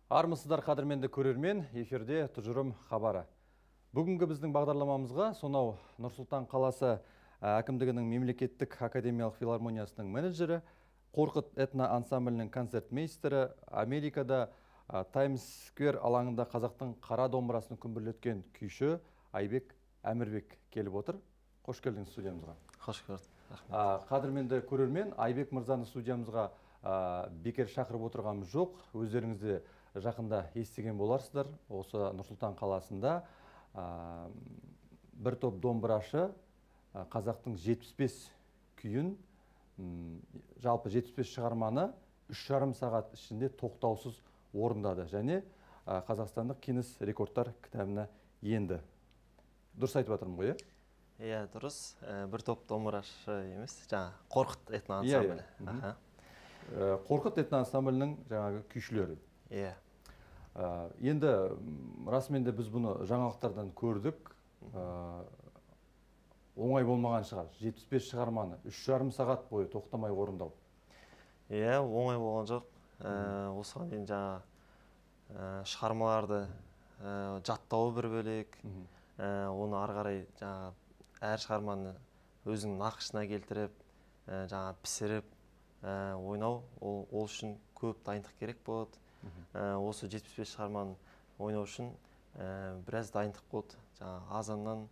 Армысыздар қадірменді көрермен, эфирде тұжырым хабары. Бүгінгі біздің бағдарламамызға сонау Нұр-Сұлтан қаласы әкімдігінің мемлекеттік академиялық филармониясының менеджері, Қорқыт этно ансамблінің концертмейстері, Америкада Таймс Сквер алаңында қазақтың қара домбырасын күмбірлеткен күйші Айбек Әмірбек келіп отыр. Қош келдіңіз студиямызға. Қош көрдік. Қадірменді көрермен, Айбек мырзаны студиямызға бекер шақырып отырғанымыз жоқ. Өздеріңізде жақында естіген боларсыздар. Осы Нұр-Сұлтан қаласында бір топ домбырашы қазақтың 75 күйін, жалпы 75 шығарманы 3,5 сағат ішінде тоқтаусыз орындады және қазақстандық Гиннес рекордтар кітабына енді. Дұрыс айтып жатырмын ғой, Иә, дұрыс. Бір топ домбырашы емес, жаңа Қорқыт этно ансамблі. Қорқыт этно ансамблінің жаңағы күйшілері. Иә. Енді расымен де біз бұны жаңалықтардан көрдік. Оңай болмаған шығар. 75 шығарманы 3,5 сағат бойы тоқтамай орындау. Иә, оңай болған жоқ. Осыған дейін жаңа шығармаларды жаттауы бір бөлек. Оны ары қарай жаңа әр шығарманы өзінің нақышына келтіріп, жаңа пісіріп, ойнау, ол үшін көп дайындық керек болады. Осы 75 шығарманы ойнау үшін біраз дайындық болды. Жаңа азаннан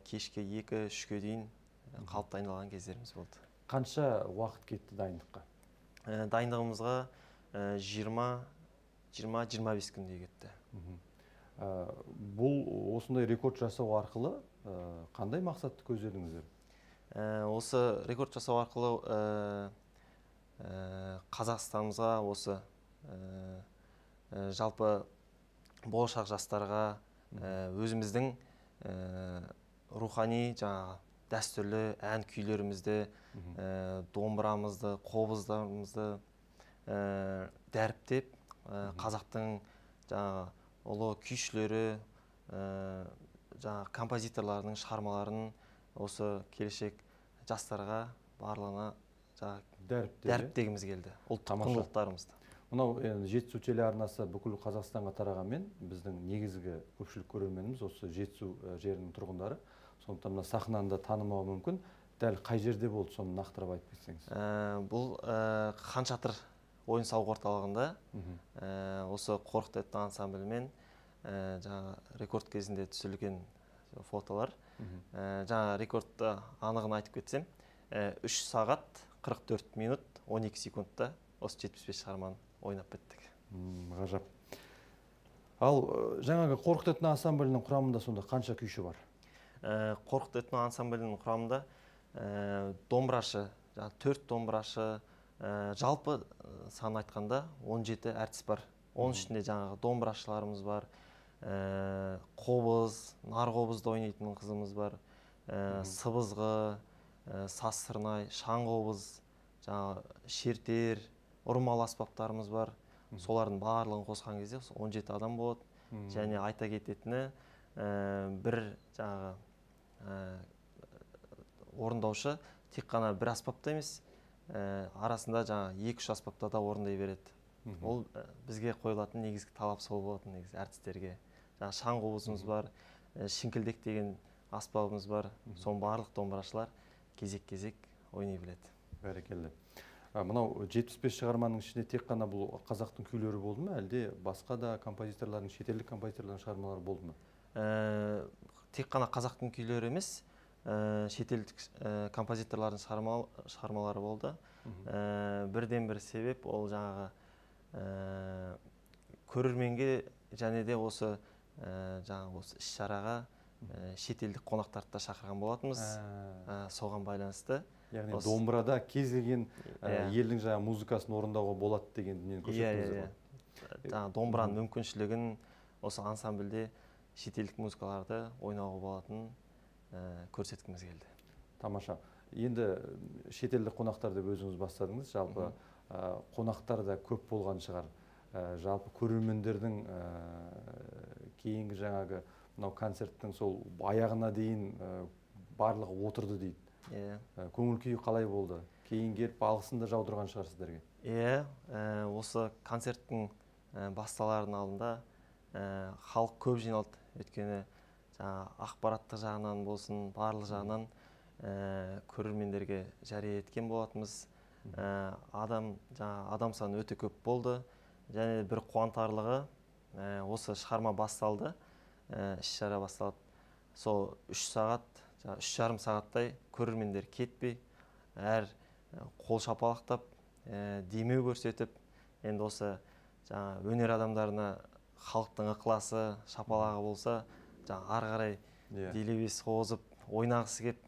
кешке 2-3-ке дейін қалып дайындалған кездеріміз болды. Қанша уақыт кетті дайындыққа? Дайындығымызға 20-25 күндей кетті. Бұл осындай рекорд жасау арқылы қандай мақсатты көздедіңіздер? Осы рекорд жасау арқылы Қазақстанымызға, осы жалпы болашақ жастарға өзіміздің рухани жаңа дәстүрлі ән күйлерімізді, домбырамызды, қобыздарымызды дәріптеп, қазақтың жаңа ұлы күйшілері, жаңа композиторларының шығармаларын осы келешек жастарға барлығына дәріптегіміз келді. Ұлттық құндылықтарымызды. Мынау Жетісу телеарнасы бүкіл Қазақстанға тарағанмен, біздің негізгі көпшілік көрерменіміз осы Жетісу жерінің тұрғындары. Сондықтан мына сахнаны танымауы мүмкін. Дәл қай жерде болды, соны нақтырып айтып кетсеңіз? Бұл Хан Шатыр ойын-сауық орталығында осы Қорқыт этно ансамблімен жаңа рекорд кезінде түсірілген фотолар. Жаңа рекордты анығын айтып кетсем, 3 сағат 44 минут 12 секундта осы 75 шығарманы ойнап беттік. Ғажап. Ал жаңағы Қорқыт этно ансамблінің құрамында сонда қанша күйші бар? Қорқыт этно ансамблінің құрамында домбырашы, 4 домбырашы, жалпы сан айтқанда 17 әртіс бар. Оның ішінде жаңағы домбырашыларымыз бар, қобыз, нар қобызды ойнайтын қызымыз бар, сыбызғы, саз сырнай, шаң қобыз, шертер, ұрмал аспаптарымыз бар. Солардың барлығын қосқан кезде 17 адам болады. Және айта кететіні, бір жаңағы орындаушы тек қана бір аспапта емес, арасында жаңа 2-3 аспапта да орындай береді. Ол бізге қойылатын негізгі талап сол болатын, негізі әртістерге. Жаңа шаң қобызымыз бар, шіңкілдек деген аспабымыз бар. Соның барлық домбырашылар кезек-кезек ойнай біледі. Бәрекелді. Мынау 75 шығарманың ішінде тек қана бұл қазақтың күйлері болды ма, әлде басқа да композиторлардың, шетелдік композиторлардың шығармалары болды ма? Тек қана қазақтың күйлері емес, шетелдік композиторлардың шығармалары болды. Бірден бір себеп ол жаңағы көрерменге және де осы іс-шараға шетелдік қонақтарды да шақырған болатынбыз. Соған байланысты. Яғни домбырада кез келген елдің жаңа музыкасын орындауға болады деген дүниені көрсеттіңіздер ғой? Домбыраның мүмкіншілігін осы ансамбльде шетелдік музыкаларды ойнауға болатынын көрсеткіміз келді. Тамаша. Енді шетелдік қонақтар деп өзіңіз бастадыңыз. Жалпы қонақтар да көп болған шығар. Жалпы көрермендердің кейінгі жаңағы мынау концерттің сол аяғына дейін барлығы отырды дейді. Көңіл күйі қалай болды? Кейін келіп алғысын да жаудырған шығар сіздерге? Осы концерттің басталардың алдында халық көп жиналды. Өйткені ақпараттық жағынан болсын, барлық жағынан көрермендерге жария еткен болатынбыз. Адам саны өте көп болды. Және бір қуантарлығы, осы шығарма басталды, іс-шара басталды. Сол 3 сағат, 3,5 сағаттай көрермендер кетпей, әр қол шапалақтап, демеу көрсетіп, енді осы өнер адамдарына халықтың ықыласы, шапалағы болса, ары қарай делебесі қозып, ойнағысы кеп,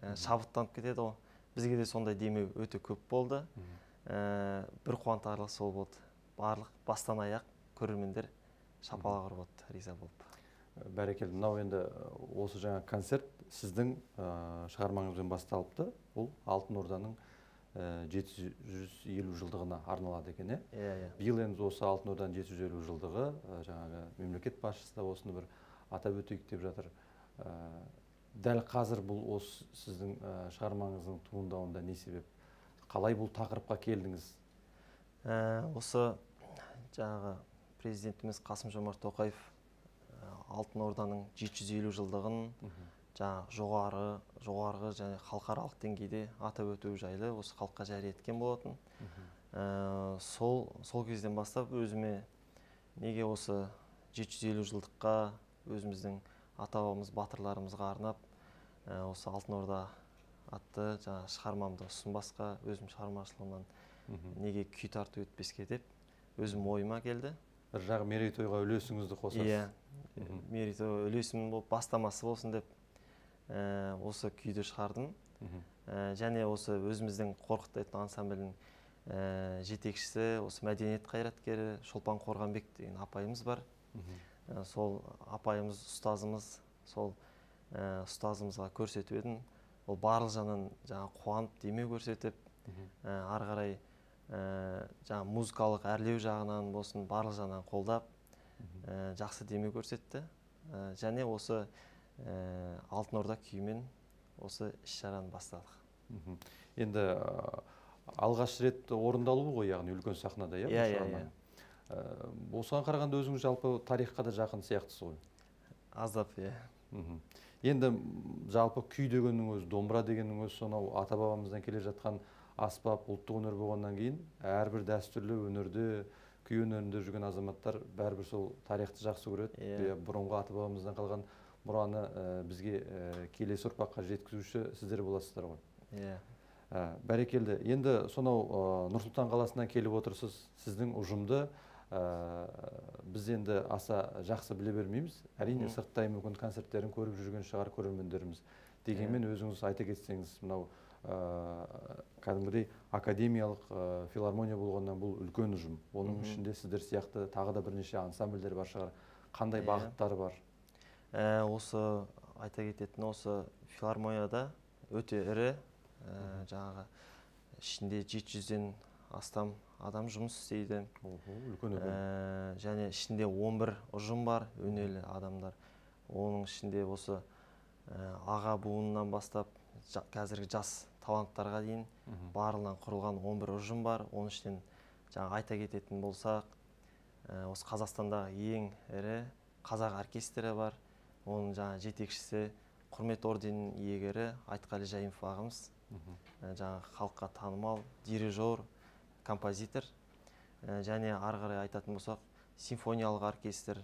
шабыттанып кетеді ғой. Бізге де сондай демеу өте көп болды. Бір қуантарлық сол болды. Барлық бастан аяқ көрермендер шапалақ ұрып отты, риза болып. Бәрекелді. Мынау енді осы жаңа концерт сіздің шығармаңызбен басталыпты. Бұл Алтын Орданың 750 жылдығына арналады екен, Биыл енді осы Алтын Орданың 750 жылдығы, жаңағы мемлекет басшысы да осыны бір атап өтейік деп жатыр. Дәл қазір бұл осы сіздің шығармаңыздың туындауында не себеп? Қалай бұл тақырыпқа келдіңіз? Осы жаңағы президентіміз Қасым-Жомарт Тоқаев Алтын Орданың 750 жылдығын жоғарғы және халықаралық деңгейде атап өту жайлы осы халыққа жария еткен болатын. Сол кезден бастап өзіме неге осы 750 жылдыққа өзіміздің ата-бабамыз, батырларымызға арнап, осы Алтын Орда атты шығармамды ұсынбасқа, өзім шығармашылығымнан неге күй тарту етпеске деп өзім ойыма келді. Бір жағы мерейтойға үлесіңізді қосасыз. Мерейтой үлесім болып бастамасы болсын деп осы күйді шығардым. Және осы өзіміздің Қорқыт этно ансамблінің жетекшісі, осы мәдениет қайраткері Шолпан Қорғанбек деген апайымыз бар. Сол апайымыз, ұстазымыз, сол ұстазымызға көрсетіп едім. Ол барлық жағынан қуанып, демеу көрсетіп, ары қарай музыкалық әрлеу жағынан болсын, барлық жағынан қолдап, жақсы демеу көрсетті. Және осы Алтын Орда күйімен осы іс-шараны бастадық. Енді алғаш рет орындалуы ғой, яғни үлкен сахнада, Осыған қарағанда өзіңіз жалпы тарихқа да жақын сияқтысыз ғой? Аздап, Енді жалпы күй дегеннің өзі, домбыра дегеннің өзі, сонау ата-бабамыздан келе жатқан аспап, ұлттық өнер болғаннан кейін, әрбір дәстүрлі өнерде, күй өнерінде жүрген азаматтар бәрібір сол тарихты жақсы көреді. Бұрынғы ата-бабамыздан қалған мұраны бізге келесі ұрпаққа жеткізуші сіздер боласыздар ғой. Бәрекелді. Енді сонау Нұр-Сұлтан қаласынан келіп отырсыз, сіздің ұжымды біз енді аса жақсы біле бермейміз. Әрине сырттай мүмкін концерттерін көріп жүрген шығар көрермендеріміз. Дегенмен өзіңіз айта кетсеңіз, мынау кәдімгідей академиялық филармония болғаннан бұл үлкен ұжым. Оның ішінде сіздер сияқты тағы да бірнеше ансамбльдер бар шығар. Қандай бағыттары бар? Осы айта кететін осы филармонияда өте ірі, жаңағы ішінде 700-ден астам адам жұмыс істейді. Және ішінде 11 ұжым бар, өнерлі адамдар. Оның ішінде осы аға буынынан бастап қазіргі жас таланттарға дейін барлығынан құрылған 11 ұжым бар. Оның ішінен айта кететін болсақ, осы Қазақстандағы ең ірі қазақ оркестрі бар. Оның жетекшісі құрмет орденінің иегері Айтқали Жайымов ағамыз. Халыққа танымал дирижер, композитор. Және ары қарай айтатын болсақ, симфониялық оркестр,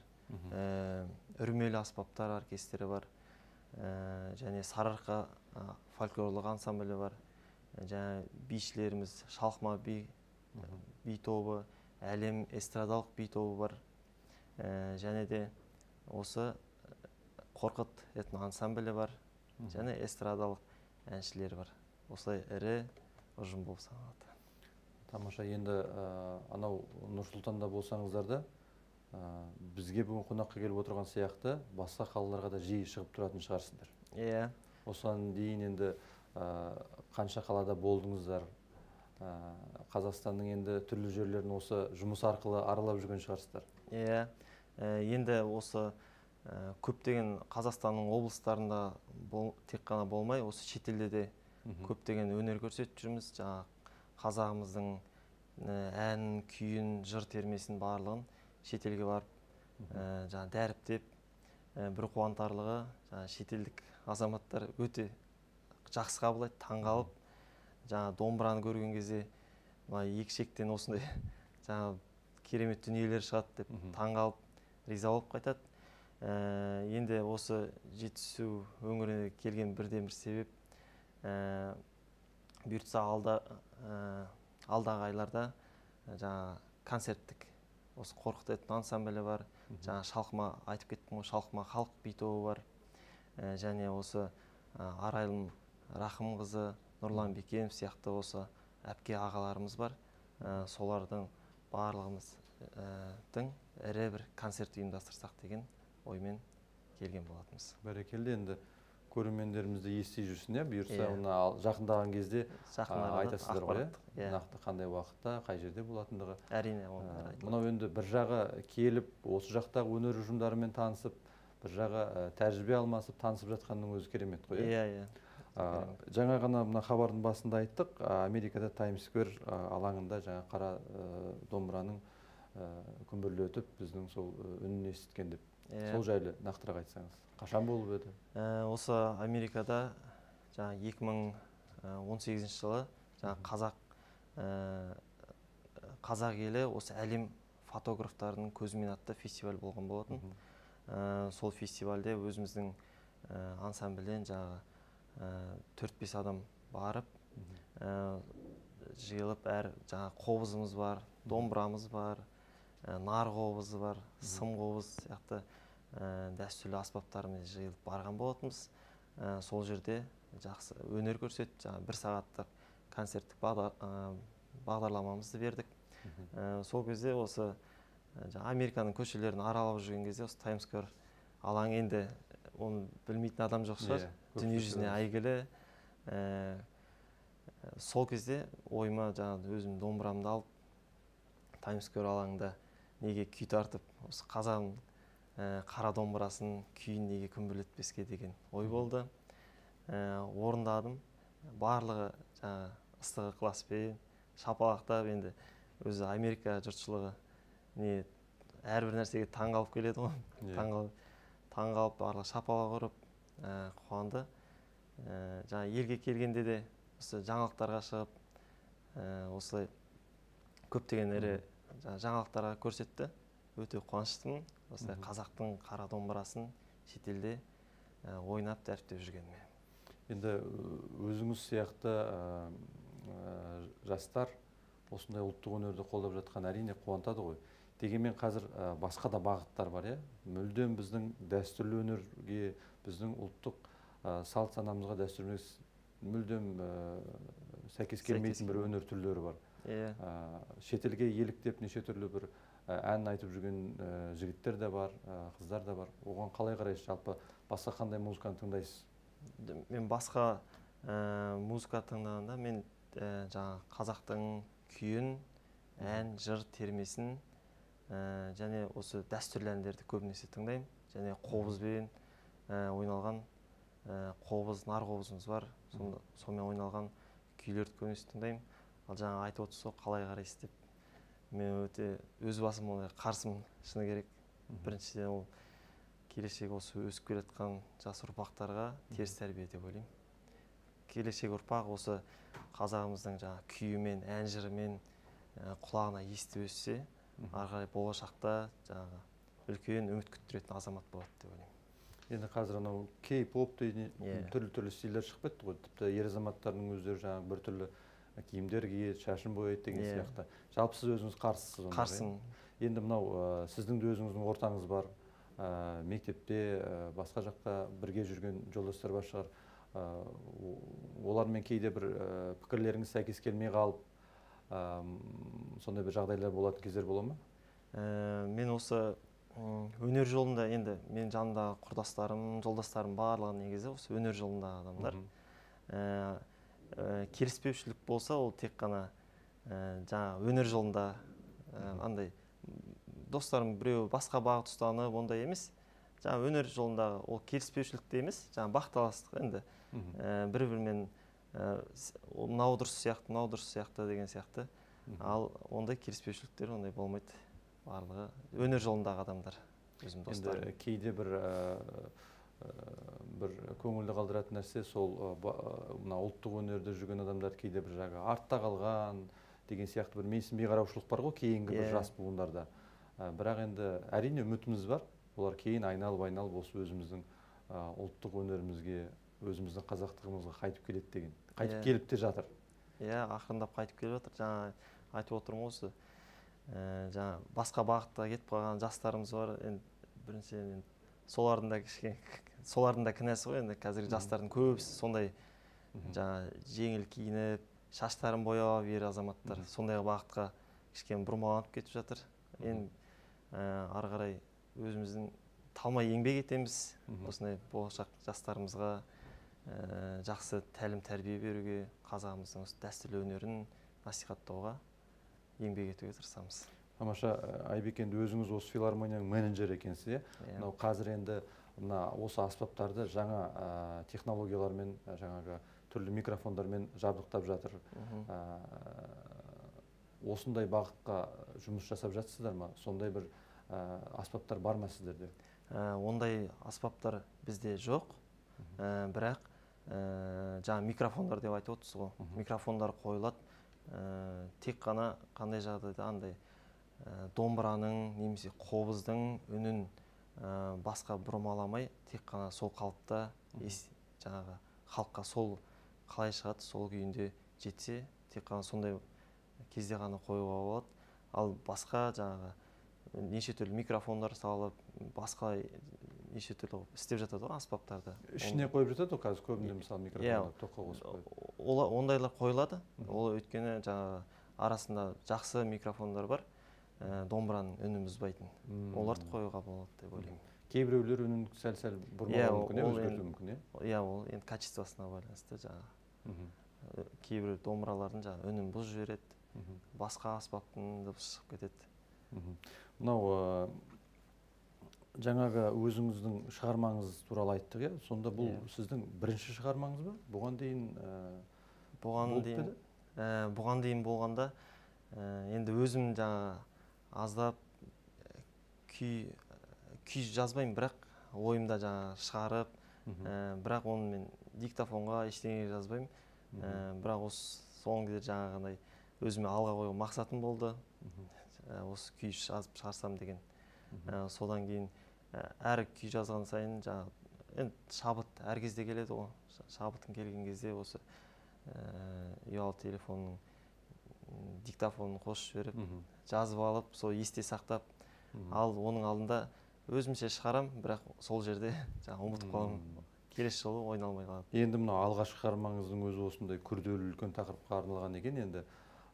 үрмелі аспаптар оркестрі бар. Және Сарыарқа фольклорлық ансамблі бар. Және бишілеріміз Шалқыма би тобы, Әлем эстрадалық би тобы бар. Және де осы Қорқыт этно ансамблі бар. Және эстрадалық әншілер бар. Осылай ірі ұжым болып саналады. Тамаша. Енді анау Нұр-Сұлтанда болсаңыздар да, бізге бүгін қонаққа келіп отырған сияқты басқа қалаларға да жиі шығып тұратын шығарсыздар. Осыған дейін енді қанша қалада болдыңыздар? Қазақстанның енді түрлі жерлерін осы жұмыс арқылы аралап жүрген шығарсыздар. Енді осы көптеген Қазақстанның облыстарында тек қана болмай, осы шетелде де көптеген өнер көрсетіп жүрміз. Қазағымыздың ән, күйін, жыр термесін барлығын шетелге барып жаңа дәріптеп, бір қуантарлығы жаңа шетелдік азаматтар өте жақсы қабылдайды, таңғалып, жаңа домбыраны көрген кезде мына екі шектен осындай жаңа керемет дүниелер шығады деп таңғалып, риза болып қайтады. Енді осы Жетісу өңіріне келген бірден бір себеп, бұйыртса алдағы айларда жаңа концерттік осы Қорқыт этно ансамблі бар, жаңа Шалқыма айтып кеттім ғой, Шалқыма халық би тобы бар, және осы Арайлым Рахымқызы, Нұрлан Бекенов сияқты осы әпке ағаларымыз бар. Солардың барлығымыздың ірі бір концерт ұйымдастырсақ деген оймен келген болатынбыз. Бәрекелді, енді көрермендерімізді ести жүрсін, бұйырса оны жақындаған кезде айтасыздар ғой, нақты қандай уақытта, қай жерде болатындығы. Әрине. Мынау енді бір жағы келіп, осы жақтағы өнер ұжымдарымен танысып, бір жағы тәжірибе алмасып, танысып жатқанның өзі керемет қой. Иә. Жаңа ғана мына хабардың басында айттық, Америкада Таймс Сквер алаңында жаңа қара домбыраның күмбірлі өтіп, біздің сол үнін естіткен деп. Сол жайлы нақтырақ айтсаңыз. Қашан болып еді? Осы Америкада жаңа 2018 жылы жаңа қазақ елі осы әлем фотографтарының көзімен атты фестиваль болған болатын. Сол фестивальде өзіміздің ансамбльден жаңа 4-5 адам барып, жиылып, жаңа қобызымыз бар, домбырамыз бар, нар қобызы бар, сым қобыз сияқты дәстүрлі аспаптарымен жиылып барған болатынбыз. Сол жерде жақсы өнер көрсетіп, жаңа 1 сағаттық концерттік бағдарламамызды бердік. Сол кезде осы Американың көшелерін аралап жүрген кезде осы Таймс Сквер алаңы, енді оны білмейтін адам жоқ шығар, дүние жүзіне әйгілі. Сол кезде ойыма жаңа өзім домбырамды алып, Таймс Сквер алаңында неге күй тартып, осы қазағым қара домбырасын күйін неге күмбірлетпеске деген ой болды. Орындадым. Барлығы жаңа ыстық ықыласпен шапалақтап, енді өзі Америка жұртшылығы әрбір нәрсеге таңғалып келеді ғой. Таңғалып, барлығы шапалақ ұрып, қуанды. Жаңа елге келгенде де осы жаңалықтарға шығып, осылай көптеген ірі жаңалықтарға көрсетті. Өте қуаныштымын. Осылай қазақтың қара домбырасын шетелде ойнап, дәріптеп жүргеніме. Енді өзіңіз сияқты жастар осындай ұлттық өнерді қолдап жатқан әрине қуантады ғой. Дегенмен қазір басқа да бағыттар бар, мүлдем біздің дәстүрлі өнерге, біздің ұлттық салт санамызға, дәстүріміз мүлдем сәйкес келмейтін бір өнер түрлері бар. Шетелге еліктеп неше түрлі бір ән айтып жүрген жігіттер де бар, қыздар да бар. Оған қалай қарайсыз? Жалпы басқа қандай музыканы тыңдайсыз? Мен басқа музыка тыңдағанда мен жаңа қазақтың күйін, ән, жыр термесін және осы дәстүрлі әндерді көбінесе тыңдаймын. Және қобызбен ойналған қобыз, нар қобызымыз бар. Сонымен ойналған күйлерді көбінесе тыңдаймын. Ал жаңа айтып отырсыз, қалай қарайсыз деп. Мен өте өз басым ондай қарсымын, шыны керек. Біріншіден ол келешек осы өсіп келатқан жас ұрпақтарға теріс тәрбие деп ойлаймын. Келешек ұрпақ осы қазағымыздың жаңа күйімен, ән жырымен құлағына естіп өссе, ары қарай болашақта жаңағы үлкен үміт күттіретін азамат болады деп ойлаймын. Енді қазір анау кей-поп деген түрлі стильдер шығып кетті ғой. Тіпті ер азаматтардың өздері жаңағы бір түрлі киімдер киеді, шашын бояйды деген сияқты. Жалпы сіз өзіңіз қарсысыз онда? Қарсымын. Енді мынау сіздің де өзіңіздің ортаңыз бар. Мектепте, басқа жаққа бірге жүрген жолдастар бар шығар. Олармен кейде бір пікірлеріңіз сәйкес келмей қалып, сондай бір жағдайлар болатын кездер бола ма? Мен осы өнер жолында, енді мен жанымдағы құрдастарым, жолдастарым барлығы негізі осы өнер жолындағы адамдар. Келіспеушілік болса, ол тек қана жаңа өнер жолында андай достарым біреу басқа бағыт ұстанып, ондай емес. Жаңа өнер жолындағы ол келіспеушілікте емес, жаңа бақталастық енді бір-бірімен мынау дұрыс сияқты, мынау дұрыс сияқты деген сияқты. Ал ондай келіспеушіліктер ондай болмайды. барлығы өнер жолындағы адамдар, өзім достарым. Енді кейде бір көңілді қалдыратын нәрсе сол мына ұлттық өнерде жүрген адамдар кейде бір жаңағы артта қалған деген сияқты бір менсінбей қараушылық бар ғой кейінгі бір жас буындарда. Бірақ енді әрине үмітіміз бар. Олар кейін айналып осы өзіміздің ұлттық өнерімізге, өзіміздің қазақтығымызға қайтып келеді деген. Қайтып келіп те жатыр. Иә, ақырындап қайтып келіп жатыр. Жаңа айтып отырмын осы. Жаңа басқа бағытта кетіп қалған жастарымыз бар. Біріншіден солардың да кінәсі ғой. Енді қазіргі жастардың көбісі сондай жаңа жеңіл киініп, шаштарын бояп ер азаматтар сондай бағытқа кішкене бұрмаланып кетіп жатыр. Енді ары қарай өзіміздің талмай еңбек етеміз. Осындай болашақ жастарымызға жақсы тәлім тәрбие беруге, қазағымыздың дәстүрлі өнерін насихаттауға еңбек етуге тырысамыз. Тамаша, Айбек, енді өзіңіз осы филармонияның менеджері екенсіз, мынау қазір енді осы аспаптарды жаңа технологиялармен, жаңағы түрлі микрофондармен жабдықтап жатыр. Осындай бағытқа жұмыс жасап жатсыздар ма? Сондай бір аспаптар бар ма сіздерде? Ондай аспаптар бізде жоқ. Бірақ жаңа микрофондар деп айтып отырсыз ғой. Микрофондар қойылады. Тек қана қандай жағдайда андай домбыраның немесе қобыздың үнін басқа бұрмаламай, тек қана сол қалыпта жаңағы халыққа сол қалай шығады, сол күйінде жетсе, тек қана сондай кезде ғана қоюға болады. Ал басқа жаңағы неше түрлі микрофондар салып, басқа неше түрлі істеп жатады ғой аспаптарды. Ішіне қойып жатады ғой қазір көбінде, мысалы микрофондар тоққа қосып қойып. Ондайлар қойылады. Ол өйткені жаңағы арасында жақсы микрофондар бар, домбыраның үнін бұзбайтын. Оларды қоюға болады деп ойлаймын. Кейбіреулер үнін сәл-сәл бұрмалауы мүмкін, өзгертуі мүмкін. Иә, ол енді качествосына байланысты жаңағы. Кейбір домбыралардың жаңағы үнін бұзып жібереді, басқа аспаптың дыбысы шығып кетеді. Мынау жаңағы өзіңіздің шығармаңыз туралы айттық, иә? Сонда бұл сіздің бірінші шығармаңыз ба? Бұған дейін Бұған дейін болғанда енді өзім жаңа аздап күй жазбаймын, бірақ ойымда жаңа шығарып, бірақ оны мен диктофонға ештеңе жазбаймын. Бірақ осы соңғы кезде жаңағындай өзіме алға қойған мақсатым болды. Осы күй жазып шығарсам деген. Содан кейін әр күй жазған сайын жаңа шабыт әр кезде келеді ғой. Шабытың келген кезде осы ұялы телефонның диктофонын қосып жіберіп, жазып алып, сол есте сақтап, ал оның алдында өзімше шығарам, бірақ сол жерде ұмытып қаламын. Келесі жолы ойналмай қалады. Енді мынау алғашқы шығармаңыздың өзі осындай күрделі үлкен тақырыпқа арналған екен. Енді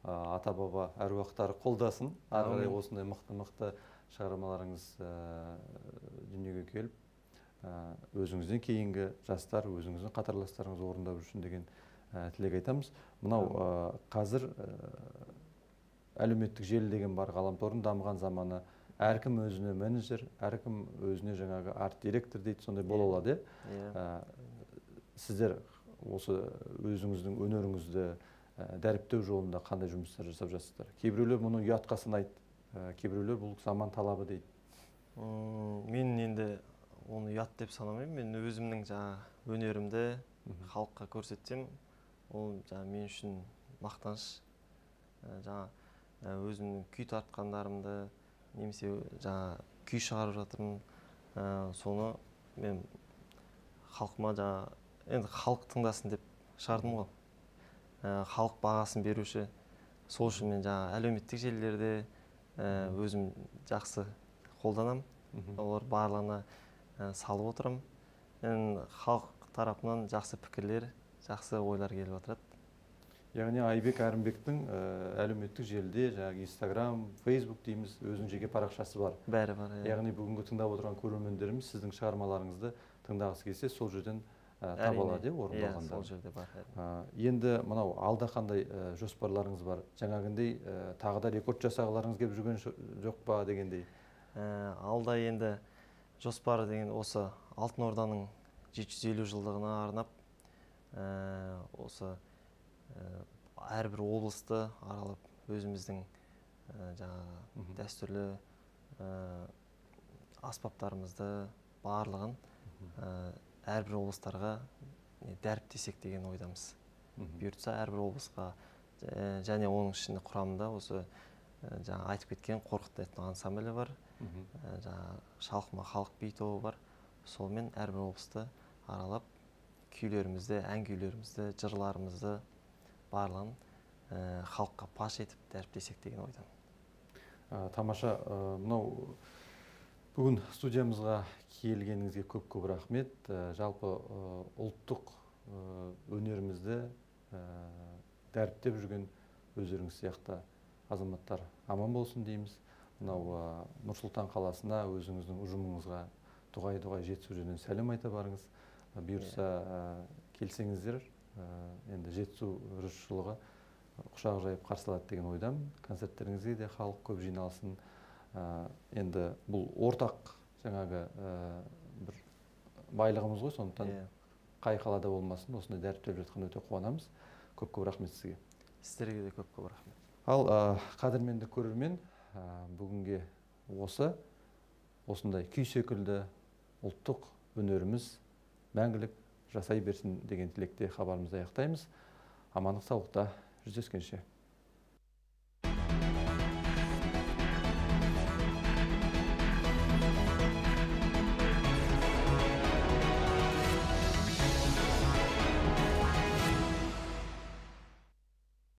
ата-баба әруақтары қолдасын. Ары қарай осындай мықты шығармаларыңыз дүниеге келіп, өзіңізден кейінгі жастар, өзіңіздің қатарластарыңыз орындап жүрсін деген тілек айтамыз. Мынау қазір әлеуметтік желі деген бар, ғаламтордың дамыған заманы. Әркім өзіне менеджер, әркім өзіне жаңағы арт-директор дейді, сондай бола алады. Сіздер осы өзіңіздің өнеріңізді дәріптеу жолында қандай жұмыстар жасап жатсыздар? Кейбіреулер мұны ұятқа санайды, кейбіреулер бұл заман талабы дейді. Мен енді оны ұят деп санамаймын. Мен өзімнің жаңа өнерімді халыққа көрсетсем, ол жаңа мен үшін мақтаныш. Жаңа өзімнің күй тартқандарымды, немесе жаңа күй шығарып жатырмын. Соны мен халқыма жаңа, енді халық тыңдасын деп шығардым ғой. Халық бағасын беруші. Сол үшін мен жаңа әлеуметтік желілерде өзім жақсы қолданам. Олар барлығына салып отырам. Халық тарапынан жақсы пікірлер, жақсы ойлар келіп отырады. Яғни Айбек Әрімбектің әлеуметтік желіде, жаңағы Инстаграм, Фейсбук дейміз, өзінің жеке парақшасы бар. Бәрі бар. Яғни бүгінгі тыңдап отырған көрермендеріміз сіздің шығармаларыңызды тыңдағысы келсе, сол жерден таба алады, орындалғанда. Иә, сол жерде бар. Енді мынау алда қандай жоспарларыңыз бар? Жаңағындай тағы да рекорд жасағыларыңыз келіп жүрген жоқ па дегендей? Алда енді жоспар деген осы Алтын Орданың 750 жылдығына арнап, осы әрбір облысты аралап өзіміздің жаңағы дәстүрлі аспаптарымызды барлығын әрбір облыстарға дәріптесек деген ойдамыз. Бұйыртса әрбір облысқа және оның ішінде құрамында осы жаңа айтып кеткен Қорқыт этно ансамблі бар, жаңа Шалқыма халық би тобы бар. Солмен әрбір облысты аралап күйлерімізді, ән күйлерімізді, жырларымызды барлығын халыққа паш етіп дәріптесек деген ойдамын. Тамаша, мынау бүгін студиямызға келгеніңізге көп рахмет. Жалпы ұлттық өнерімізді дәріптеп жүрген өздеріңіз сияқты азаматтар аман болсын дейміз. Мынау Нұр-Сұлтан қаласына өзіңіздің ұжымыңызға дұғай жетісу жерден сәлем айта барыңыз. Бұйырса келсеңіздер, енді жетісу жұртшылығы құшақ жайып қарсы алады деген ойдамын. Концерттеріңізге де халық көп жиналсын. Енді бұл ортақ жаңағы бір байлығымыз ғой, сондықтан қай қалада болмасын, осындай дәріптеп жатқан өте қуанамыз. Көп рахмет сізге. Сіздерге де көп рахмет. Ал қадірменді көрермен, бүгінге осындай күй секілді ұлттық өнеріміз мәңгілік жасай берсін деген тілекте хабарымызды аяқтаймыз. Амандық саулықта жүздескенше.